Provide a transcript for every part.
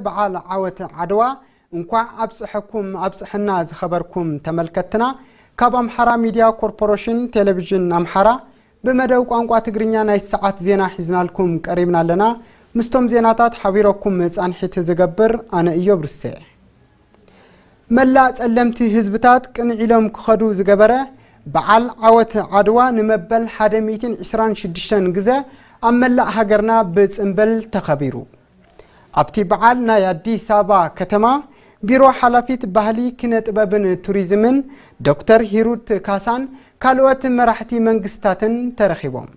በዓል ዓወት ዓድዋ እንኳዕ ኣብፀሐኩም ኣብፀሐና ዝኸበርኩም ተመልከትና፣ ካብ ኣምሓራ ሚድያ ኮርፖሬሽን ቴሌቪዥን ኣምሓራ ብመደብ ቋንቋ ትግርኛ ናይ ሰዓት ዜና ሒዝናልኩም ቀሪብና ኣለና። ምስቶም ዜናታት ሓቢረኩም ፃንሒት ዝገብር ኣነ እዮብ ርስተ። መላእ ጸለምቲ ህዝብታት ቅንዕ ኢሎም ክኸዱ ዝገበረ በዓል ዓወት ዓድዋ ንመበል ሓደ ሚእትን ዕስራን ሽዱሽተን ግዘ ኣብ መላእ ሃገርና ብጽምብል ተኸቢሩ። ኣብቲ በዓል ናይ ኣዲስ ኣበባ ከተማ ቢሮ ሓላፊት ባህሊ፣ ኪነ ጥበብን ቱሪዝምን ዶክተር ሂሩት ካሳን ካልኦት መራሕቲ መንግስታትን ተረኺቦም።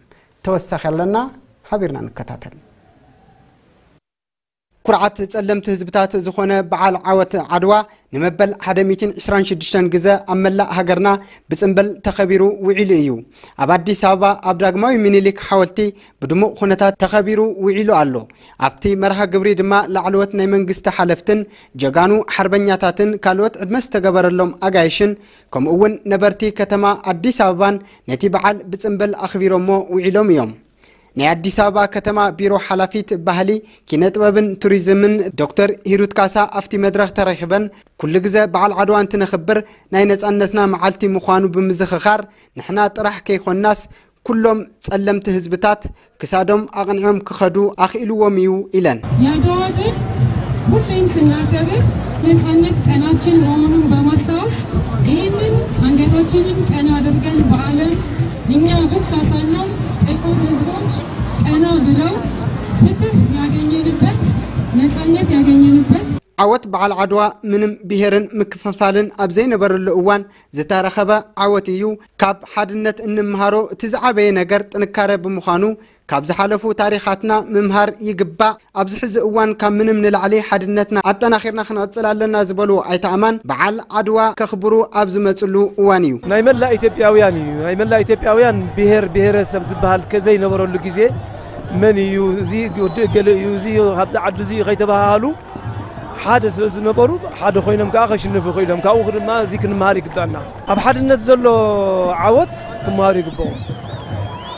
ተወሳኺ ኣለና፣ ሓቢርና ንከታተል። ኩርዓት ጸለምቲ ህዝብታት ዝኾነ በዓል ዓወት ዓድዋ ንመበል ሓደ ሚእትን ዕስራን ሽዱሽተን ግዘ ኣብ መላእ ሃገርና ብጽምብል ተኸቢሩ ውዒሉ እዩ። ኣብ ኣዲስ ኣበባ ኣብ ዳግማዊ ምኒልክ ሓወልቲ ብድሙቕ ኩነታት ተኸቢሩ ውዒሉ ኣሎ። ኣብቲ መርሃ ግብሪ ድማ ላዕለዎት ናይ መንግስቲ ሓለፍትን ጀጋኑ ሓርበኛታትን ካልኦት ዕድመ ዝተገበረሎም ኣጋይሽን ከምኡ እውን ነበርቲ ከተማ ኣዲስ ኣበባን ነቲ በዓል ብጽምብል ኣኽቢሮሞ ውዒሎም እዮም። ናይ ኣዲስ ኣበባ ከተማ ቢሮ ሓላፊት ባህሊ፣ ኪነ ጥበብን ቱሪዝምን ዶክተር ሂሩት ካሳ ኣብቲ መድረኽ ተረኺበን፣ ኩሉ ግዘ በዓል ዓድዋ እንትነኽብር ናይ ነጻነትና መዓልቲ ምዃኑ ብምዝኽኻር፣ ንሕና ጥራሕ ከይኮንናስ ኩሎም ጸለምቲ ህዝብታት ክሳዶም ኣቕኒዖም ክኸዱ ኣኽኢልዎም እዩ ኢለን። የአድዋ ድል ሁሌም ስናከብር ነጻነት ቀናችን መሆኑን በማስታወስ ይህንን አንገታችንን ቀና አድርገን በዓለም እኛ ብቻ ሳንሆን ጥቁር ህዝቦች ቀና ብለው ፍትህ ያገኘንበት፣ ነጻነት ያገኘንበት። ዓወት በዓል ዓድዋ ምንም ብሄርን ምክፍፋልን ኣብ ዘይነበረሉ እዋን ዝተረኸበ ዓወት እዩ። ካብ ሓድነት እንምሃሮ እቲ ዝዓበየ ነገር ጥንካረ ብምዃኑ ካብ ዝሓለፉ ታሪኻትና ምምሃር ይግባእ። ኣብዚ ሕዚ እዋን ካብ ምንም ንላዕሊ ሓድነትና ኣጠናኺርና ክንቕጽል ኣለና ዝበሉ ኣይተ ኣማን በዓል ዓድዋ ከኽብሩ ኣብ ዝመጽሉ እዋን እዩ። ናይ መላእ ኢትዮጵያውያን እዩ። ናይ መላእ ኢትዮጵያውያን ብሄር ብሄረሰብ ዝበሃል ከዘይነበረሉ ግዜ መን እዩ፣ እዚ ወዲ እገለ እዩ፣ እዚ ካብዚ ዓዲ እዚ እዩ ከይተባሃሃሉ ሓደ ስለ ዝነበሩ ሓደ ኮይኖም ከዓ ከሽንፉ ክኢሎም። ካብኡ ድማ እዚ ክንምሃር ይግባና። ኣብ ሓድነት ዘሎ ዓወት ክምሃሩ ይግብኦ።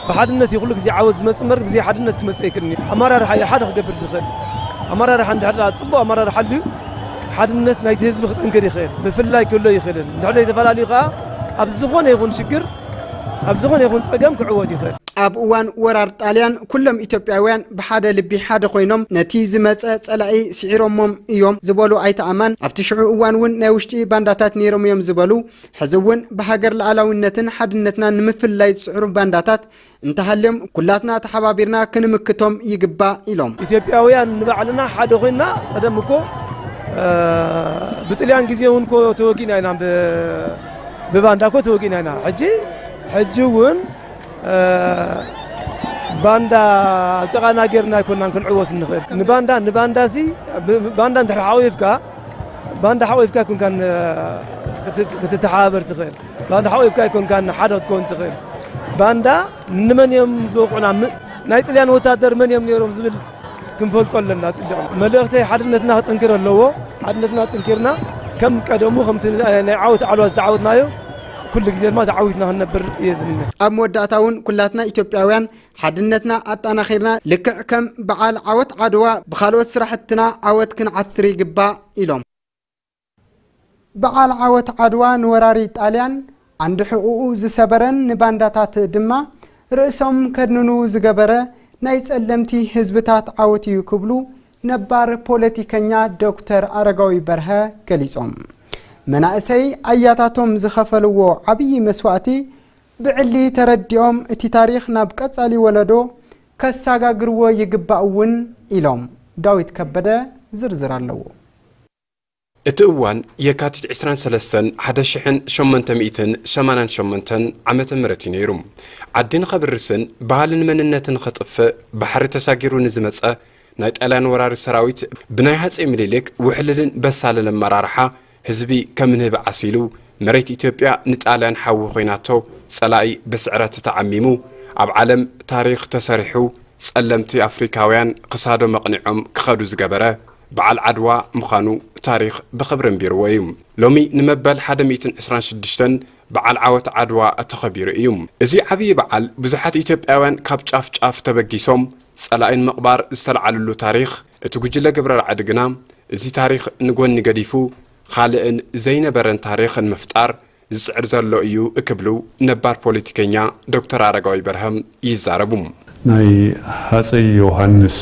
ብሓድነት እዩ ኩሉ ግዜ ዓወት ዝመጽእ እምበር ብዘይ ሓድነት ክመጽእ ኣይክእልን እዩ። ኣመራርሓ እዩ ሓደ ክገብር ዝኽእል። ኣመራርሓ እንድሕር ደኣ ጽቡቕ ኣመራርሓ ኣልዩ ሓድነት ናይቲ ህዝቢ ክጠንክር ይኽእል። ምፍልላይ ክህሎ ይኽእልን። እንድሕር ዘይተፈላለዩ ከዓ ኣብ ዝኾነ ይኹን ሽግር፣ ኣብ ዝኾነ ይኹን ጸገም ክዕወት ይኽእል። ኣብ እዋን ወራር ጣልያን ኩሎም ኢትዮጵያውያን ብሓደ ልቢ ሓደ ኮይኖም ነቲ ዝመጸ ጸላኢ ስዒሮሞም እዮም ዝበሉ ኣይተ ኣማን፣ ኣብቲ ሽዑ እዋን እውን ናይ ውሽጢ ባንዳታት ነይሮም እዮም ዝበሉ፣ ሕዚ እውን ብሃገር ሉዓላዊነትን ሓድነትናን ንምፍልላይ ዝጽዕሩ ባንዳታት እንተሃልዮም ኩላትና ተሓባቢርና ክንምክቶም ይግባእ ኢሎም። ኢትዮጵያውያን ንባዕልና ሓደ ኮይንና ቀደም እኮ፣ እ፣ ብጥልያን ግዜ እውን እኮ ተወጊእና ኢና፣ ብ-፣ ብባንዳ እኮ ተወጊእና ኢና። ሕጂ፣ ሕጂ እውን፣ እ፣ ባንዳ ኣብ ጥቓና ጌርና ኣይኮናን ክንዕወት ንኽእል። ንባንዳ፣ ንባንዳ ሲ፣ ብ-፣ ባንዳ እንድሕር ሓቑፍካ፣ ባንዳ ሓቑፍካ ኣይኮንካን፣ እ፣ ክት-፣ ክትተሓባበር ትኽእል። ባንዳ ሓቑፍካ ኣይኮንካን ሓደ ክትከውን ትኽእል። ባንዳ ንመን እዮም ዝወቕዑና? ም-፣ ናይ ጥልያን ወታደር መን እዮም ነይሮም ዝብል ክንፈልጦ ኣለና። ጽቡቕ መልእኽተይ ሓድነትና ክጥንክር ኣለዎ። ሓድነትና ጥንኪርና ከም ቀደሙ ከምቲ ናይ ዓወት ዓድዋ ዝተዓወትናዮ ኩሉ ግዜ ድማ ተዓዊትና ክንነብር እየ ዝምነ። ኣብ መወዳእታ እውን ኩላትና ኢትዮጵያውያን ሓድነትና ኣጠናኺርና ልክዕ ከም በዓል ዓወት ዓድዋ ብኻልኦት ስራሕትና ዓወት ክንዓትር ይግባእ ኢሎም። በዓል ዓወት ዓድዋ ንወራሪ ጣልያን ዓንዲ ሕቑኡ ዝሰበረን ንባንዳታት ድማ ርእሶም ከድንኑ ዝገበረ ናይ ጸለምቲ ህዝብታት ዓወት እዩ ክብሉ ነባር ፖለቲከኛ ዶክተር ኣረጋዊ በርሀ ገሊጾም። መናእሰይ ኣያታቶም ዝኸፈልዎ ዓብዪ መስዋእቲ ብዕሊ ተረዲኦም እቲ ታሪኽ ናብ ቀጻሊ ወለዶ ከሰጋግርዎ ይግባእ እውን ኢሎም። ዳዊት ከበደ ዝርዝር ኣለዎ። እቲ እዋን የካቲት ዕስራን ሰለስተን ሓደ ሽሕን ሸሞንተ ሚእትን ሰማንያን ሸሞንተን ዓመተ ምህረት እዩ ነይሩ። ዓዲ ንኸብርስን ባህልን መንነትን ንኸጥፍእ ባሕሪ ተሳጊሩ ንዝመጸ ናይ ጣልያን ወራሪ ሰራዊት ብናይ ሃጼ ምኒልክ ውሕልልን በሳልን ኣመራርሓ ህዝቢ ከም ንህቢ ዓሲሉ፣ መሬት ኢትዮጵያ ንጣልያን ሓዊ ኮይናቶ፣ ጸላኢ ብስዕረት ተዓሚሙ፣ ኣብ ዓለም ታሪኽ ተሰሪሑ፣ ጸለምቲ ኣፍሪካውያን ክሳዶም ኣቕኒዖም ክኸዱ ዝገበረ በዓል ዓድዋ ምዃኑ ታሪኽ ብኽብሪ ኣንቢርዎ እዩ። ሎሚ ንመበል ሓደ ሚእትን ዕስራን ሽዱሽተን በዓል ዓወት ዓድዋ ተኸቢሩ እዩ። እዚ ዓብዪ በዓል ብዙሓት ኢትዮጵያውያን ካብ ጫፍ ጫፍ ተበጊሶም ጸላኢ ንምቕባር ዝተለዓልሉ ታሪኽ እቲ ጉጅለ ግብረ ራዕዲ ግና፣ እዚ ታሪኽ ንጎኒ ገዲፉ፣ ኻልእን ዘይነበረን ታሪኽ ንምፍጣር ዝጽዕር ዘሎ እዩ ክብሉ ነባር ፖለቲከኛ ዶክተር ኣረጋዊ በርሀም ይዛረቡ። ናይ ሃፀይ ዮሃንስ፣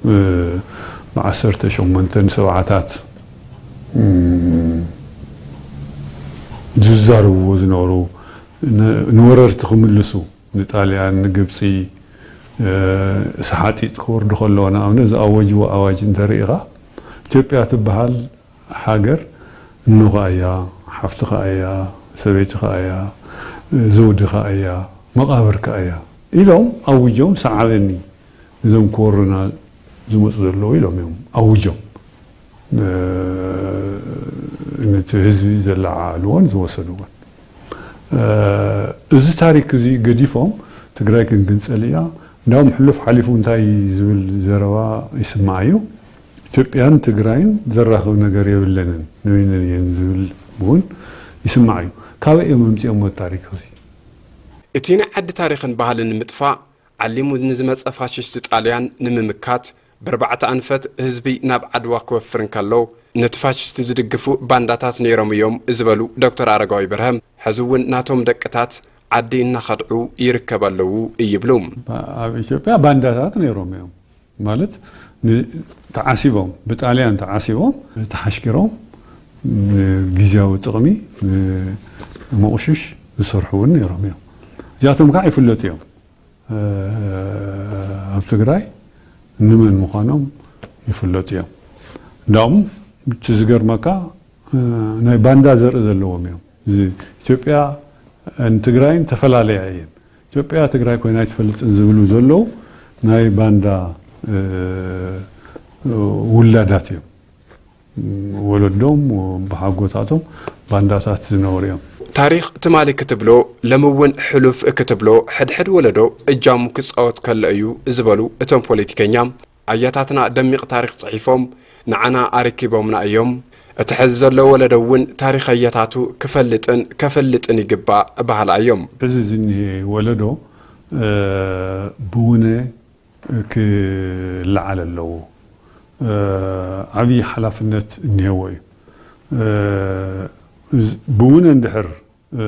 እ፣ ብዓሰርተ ሸሞንተን ሰብዓታት፣ እም፣ ዝዛረብዎ ዝነበሩ፣ ን-፣ ንወረርቲ ክምልሱ፣ ንጣልያን፣ ንግብፂ፣ እ፣ ሰሓጢጥ ክወርዱ ከለዎ፣ ንኣብነት ዝኣወጅዎ ኣዋጅ እንተርኢኻ፣ ኢትዮጵያ ትበሃል ሃገር እኖኻ እያ፣ ሓፍትኻ እያ፣ ሰበይትኻ እያ፣ ዘውድኻ እያ፣ መቓብርካ እያ ኢሎም ኣውጆም፣ ሰዓበኒ፣ እዞም ክወሩና ዝመፁ ዘለዉ ኢሎም እዮም ኣውጆም። እ፣ ነቲ ህዝቢ ዘለዓዓልዎን ዝወሰድዎን። እ፣ እዚ ታሪክ እዚ ገዲፎም፣ ትግራይ ክንግንፀል እያ፣ እንዳውም ሕሉፍ ሓሊፉ እንታይ ዝብል ዘረባ ይስማዕ እዩ። ኢትዮጵያን ትግራይን ዘራኽብ ነገር የብለንን፣ ንበይነን እየን ዝብል እውን ይስማዕ እዩ። ካበይ እዮም ኣምፂኦሞ ታሪክ እዚ? እቲ ናይ ዓዲ ታሪኽን ባህልን ንምጥፋእ ዓሊሙ ንዝመጸ ፋሽስት ጣልያን ንምምካት፣ ብርባዕተ ኣንፈት ህዝቢ ናብ ዓድዋ ክወፍር እንከሎ፣ ነቲ ፋሽስት ዝድግፉ ባንዳታት ነይሮም እዮም ዝበሉ ዶክተር ኣረጋዊ በርሀም፣ ሕዚ እውን ናቶም ደቅታት ዓዲ እናኸድዑ ይርከቡ ኣለዉ ይብሉ። ኣብ ኢትዮጵያ ባንዳታት ነይሮም እዮም። ማለት ን-፣ ተዓሲቦም፣ ብጣልያን ተዓሲቦም፣ ተሓሽኪሮም፣ ንግዝያዊ ጥቕሚ፣ ንመቑሽሽ ዝሰርሑ እውን ነይሮም እዮም። እዚኣቶም ከዓ ይፍለጡ እዮም። እ፣ ኣብ ትግራይ ንመን ምዃኖም ይፍለጡ እዮም። እንዳውም እቲ ዝገርመካ፣ እ፣ ናይ ባንዳ ዘርኢ ዘለዎም እዮም። እዚ ኢትዮጵያ ንትግራይን ተፈላለያ እየን። ኢትዮጵያ ትግራይ ኮይና ኣይትፈልጥን ዝብሉ ዘለዉ ናይ ባንዳ፣ እ፣ ውላዳት እዮም። ወለዶም፣ ብሓጎታቶም ባንዳታት ዝነበሩ እዮም። ታሪኽ ትማሊ ክትብሎ፣ ሎሚ እውን ሕሉፍ ክትብሎ፣ ሕድሕድ ወለዶ እጃሙ ክጻወት ከሎ እዩ ዝበሉ እቶም ፖለቲከኛ፣ ኣያታትና ደሚቕ ታሪኽ ጽሒፎም ንዓና ኣረኪቦምና እዮም። እቲ ሕዚ ዘሎ ወለዶ እውን ታሪኽ ኣያታቱ ክፈልጥን ከፈልጥን ይግባእ በሃላ እዮም። ሕዚ ዝኒሄ ወለዶ፣ እ፣ ብውነ ክለዓል ኣለዎ። እ፣ ዓብዪ ሓላፍነት እኒሄዎ እዩ። እ፣ እዝ-፣ ብውነ እንድሕር፣ እ፣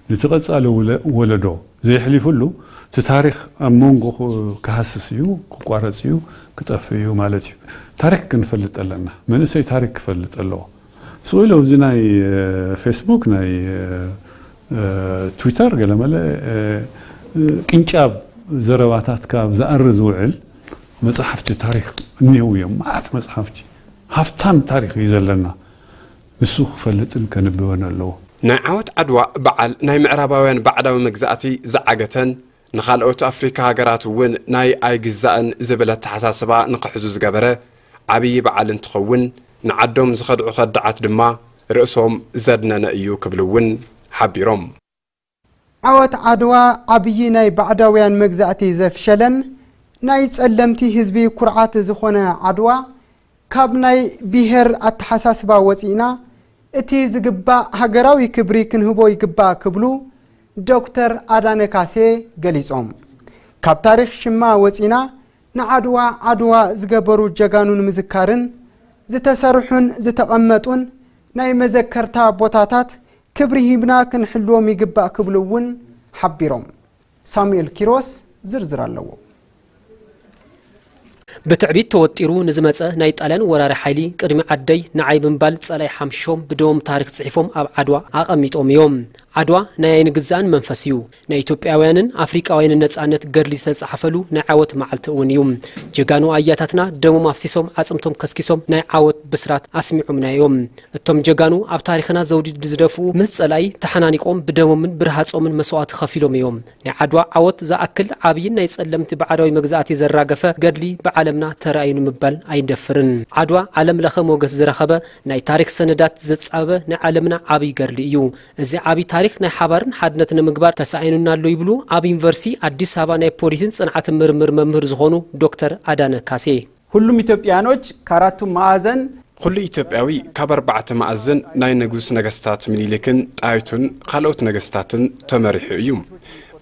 ነቲ ቀጻሊ ውለ-፣ ወለዶ ዘየሕሊፍሉ፣ እቲ ታሪኽ ኣብ መንጎ ክ-፣ ክሃስስ እዩ፣ ክቋረጽ እዩ፣ ክጠፍእ እዩ ማለት እዩ። ታሪኽ ክንፈልጥ ኣለና። መንእሰይ ታሪኽ ክፈልጥ ኣለዎ። ስቕ ኢሉ ኣብዚ ናይ፣ እ፣ ፌስቡክ፣ ናይ፣ እ፣ እ፣ ትዊተር ገለመለ፣ እ፣ እ፣ ቅንጫብ ዘረባታት ካብ ዝኣሪ ዝውዕል መጽሓፍቲ ታሪኽ እኒህው እዮም። መዓት መጽሓፍቲ፣ ሃፍታም ታሪኽ እዩ ዘለና። ንሱ ክፈልጥን ከንብበን ኣለዎ። ናይ ዓወት ዓድዋ በዓል ናይ ምዕራባውያን ባዕዳዊ መግዛእቲ ዝዓገተን፣ ንኻልኦት ኣፍሪካ ሃገራት እውን ናይ ኣይግዛእን ዝብል ኣተሓሳስባ ንኽሕዙ ዝገበረ ዓብዪ በዓል እንትኸውን፣ ንዓዶም ዝኸድዑ ከዳዓት ድማ ርእሶም ዘድነነ እዩ ክብሉ እውን ሓቢሮም። ዓወት ዓድዋ ዓብዪ ናይ ባዕዳውያን መግዛእቲ ዘፍሸለን ናይ ጸለምቲ ህዝቢ ኩርዓት ዝኾነ ዓድዋ፣ ካብ ናይ ብሄር ኣተሓሳስባ ወጺእና እቲ ዝግባእ ሃገራዊ ክብሪ ክንህቦ ይግባእ ክብሉ ዶክተር ኣዳነ ካሴ ገሊጾም። ካብ ታሪኽ ሽማ ወጺና ንዓድዋ ዓድዋ ዝገበሩ ጀጋኑ ንምዝካርን ዝተሰርሑን ዝተቐመጡን ናይ መዘከርታ ቦታታት ክብሪ ሂብና ክንሕልዎም ይግባእ ክብሉ እውን ሓቢሮም። ሳሙኤል ኪሮስ ዝርዝር ኣለዎ። ብትዕቢት ተወጢሩ ንዝመጸ ናይ ጣልያን ወራሪ ሓይሊ ቅድሚ ዓደይ ንዓይ ብምባል ጸላኢ ሓምሺሾም ብደሞም ታሪኽ ጽሒፎም ኣብ ዓድዋ ኣቐሚጦም እዮም። ዓድዋ ናይ ኣይንግዛእን መንፈስ እዩ። ናይ ኢትዮጵያውያንን ኣፍሪቃውያንን ነጻነት ገድሊ ዝተጻሕፈሉ ናይ ዓወት መዓልቲ እውን እዩ። ጀጋኑ ኣያታትና ደሞም ኣፍሲሶም ዓጽምቶም ከስኪሶም ናይ ዓወት ብስራት ኣስሚዖምና እዮም። እቶም ጀጋኑ ኣብ ታሪኽና ዘውዲ ዝደፍኡ ምስ ጸላኢ ተሓናኒቆም ብደሞምን ብርሃጾምን መስዋእቲ ከፊሎም እዮም። ናይ ዓድዋ ዓወት ዝኣክል ዓብይን ናይ ጸለምቲ ባዕዳዊ መግዛእቲ ዘራገፈ ገድሊ ብዓለምና ተራእዩ ንምባል ኣይንደፍርን። ዓድዋ ዓለም ለኸ ሞገስ ዝረኸበ ናይ ታሪኽ ሰነዳት ዘጻበበ ናይ ዓለምና ዓብይ ገድሊ እዩ። እዚ ዓብይ ታሪኽ ናይ ሓባርን ሓድነት ንምግባር ተሳኢኑና ኣሎ ይብሉ ኣብ ዩኒቨርሲቲ ኣዲስ ኣበባ ናይ ፖሊሲን ጽንዓትን ምርምር መምህር ዝኾኑ ዶክተር ኣዳነ ካሴ። ሁሉም ኢትዮጵያኖች ከአራቱ ማዕዘን ኩሉ ኢትዮጵያዊ ካብ ኣርባዕተ ማዕዘን ናይ ንጉስ ነገስታት ምኒልክን ጣይቱን ካልኦት ነገስታትን ተመሪሑ እዩ።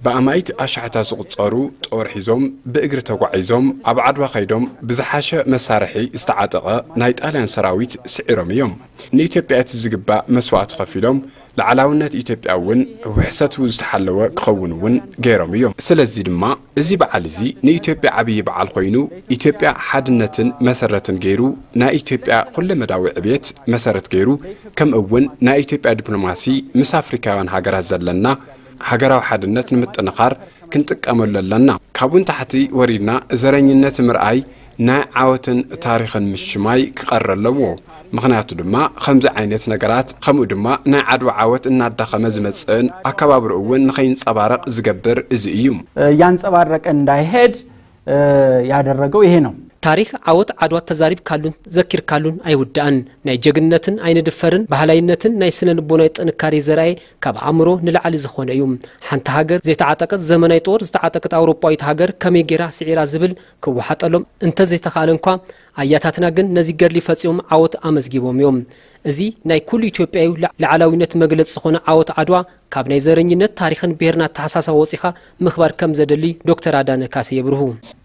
ብኣማኢት ኣሽሓታ ዝቑጸሩ ጦር ሒዞም ብእግሪ ተጓዒዞም ኣብ ዓድዋ ከይዶም ብዝሓሸ መሳርሒ ዝተዓጠቐ ናይ ጣልያን ሰራዊት ስዒሮም እዮም። ንኢትዮጵያ እቲ ዝግባእ መስዋእቲ ከፊሎም፣ ላዕላውነት ኢትዮጵያ እውን ውሕሰቱ ዝተሓለወ ክኸውን እውን ገይሮም እዮም። ስለዚ ድማ እዚ በዓል እዚ ንኢትዮጵያ ዓብዪ በዓል ኮይኑ፣ ኢትዮጵያ ሓድነትን መሰረትን ገይሩ፣ ናይ ኢትዮጵያ ኩለመዳዊ ዕብየት መሰረት ገይሩ፣ ከምኡ እውን ናይ ኢትዮጵያ ዲፕሎማሲ ምስ ኣፍሪካውያን ሃገራት ዘለና ሃገራዊ ሓድነት ንምጥንኻር ክንጥቀመሉ ኣለና። ካብኡ ንታሕቲ ወሪድና ዘረኝነት ምርኣይ ናይ ዓወትን ታሪኽን ምሽማይ ክቐረ ኣለዎ። ምኽንያቱ ድማ ከምዚ ዓይነት ነገራት፣ ከምኡ ድማ ናይ ዓድዋ ዓወት እናዳኸመ ዝመጽእን ኣከባብርኡ እውን ንኸይንጸባረቕ ዝገብር እዚ እዩ። እያንጸባረቀ እንዳይሄድ ያደረገው ይሄ ነው። ታሪኽ ዓወት ዓድዋ ተዛሪብካሉን ዘኪርካሉን ኣይውዳእን። ናይ ጀግንነትን ኣይንድፈርን ባህላይነትን ናይ ስነ ልቦናዊ ጥንካሬ ዘርኣየ ካብ ኣእምሮ ንላዕሊ ዝኾነ እዩ። ሓንቲ ሃገር ዘይተዓጠቀት ዘመናዊ ጦር ዝተዓጠቀት ኣውሮጳዊት ሃገር ከመይ ጌራ ስዒራ ዝብል ክወሓጠሎም እንተዘይተኻእለ እንኳ ኣያታትና ግን ነዚ ገድሊ ፈጺሞም ዓወት ኣመዝጊቦም እዮም። እዚ ናይ ኩሉ ኢትዮጵያዊ ላዕላዊነት መግለጺ ዝኾነ ዓወት ዓድዋ ካብ ናይ ዘረኝነት ታሪኽን ብሄርና ኣተሓሳስባ ወፂኻ ምኽባር ከም ዘደሊ ዶክተር ኣዳነ ካሴ የብርሁ።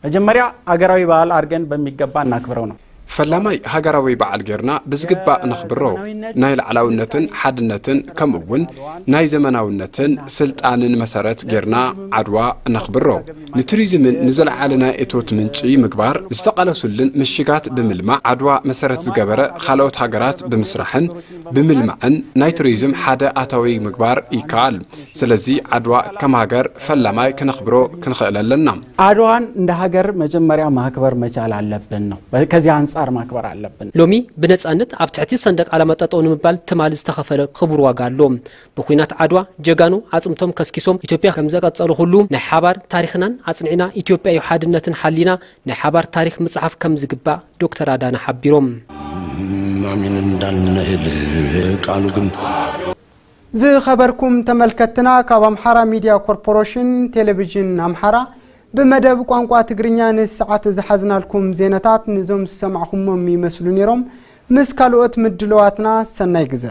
መጀመሪያ አገራዊ በዓል አድርገን በሚገባ እናክብረው ነው። ፈላማይ ሃገራዊ በዓል ጌርና ብዝግባእ ነኽብሮ። ናይ ላዕላውነትን ሓድነትን ከምኡ እውን ናይ ዘመናውነትን ስልጣንን መሰረት ጌርና ዓድዋ ነኽብሮ። ንቱሪዝምን ንዘለዓለ ናይ እቶት ምንጪ ምግባር ዝተቓለሱልን ምሽጋት ብምልማዕ ዓድዋ መሰረት ዝገበረ ካልኦት ሃገራት ብምስራሕን ብምልማዕን ናይ ቱሪዝም ሓደ ኣታዊ ምግባር ይከኣል። ስለዚ ዓድዋ ከም ሃገር ፈላማይ ክነኽብሮ ክንኽእል ኣለና። አድዋን እንደ ሀገር መጀመሪያ ማክበር መቻል አለብን ነው። ከዚህ አንጻር ማክበር አለብን። ሎሚ ብነጻነት ኣብ ትሕቲ ሰንደቅ ዓላማ ጠጠው ንምባል ትማል ዝተኸፈለ ክቡር ዋጋ ኣሎ። ብኩናት ዓድዋ ጀጋኑ ኣጽምቶም ከስኪሶም ኢትዮጵያ ከም ዘቀጸሉ ኩሉ ናይ ሓባር ታሪኽናን ኣጽኒዕና ኢትዮጵያዊ ሓድነትን ሓሊና ናይ ሓባር ታሪኽ ምጽሓፍ ከም ዝግባእ ዶክተር ኣዳነ ሓቢሮም። ማሚን እንዳንነህል ቃሉ ግን ዝኸበርኩም ተመልከትና ካብ ኣምሓራ ሚድያ ኮርፖሬሽን ቴሌቪዥን ኣምሓራ ብመደብ ቋንቋ ትግርኛ ንሰዓት ዝሓዝናልኩም ዜናታት ንዞም ዝሰማዕኹሞም ይመስሉ ነይሮም። ምስ ካልኦት ምድለዋትና ሰናይ ግዘ።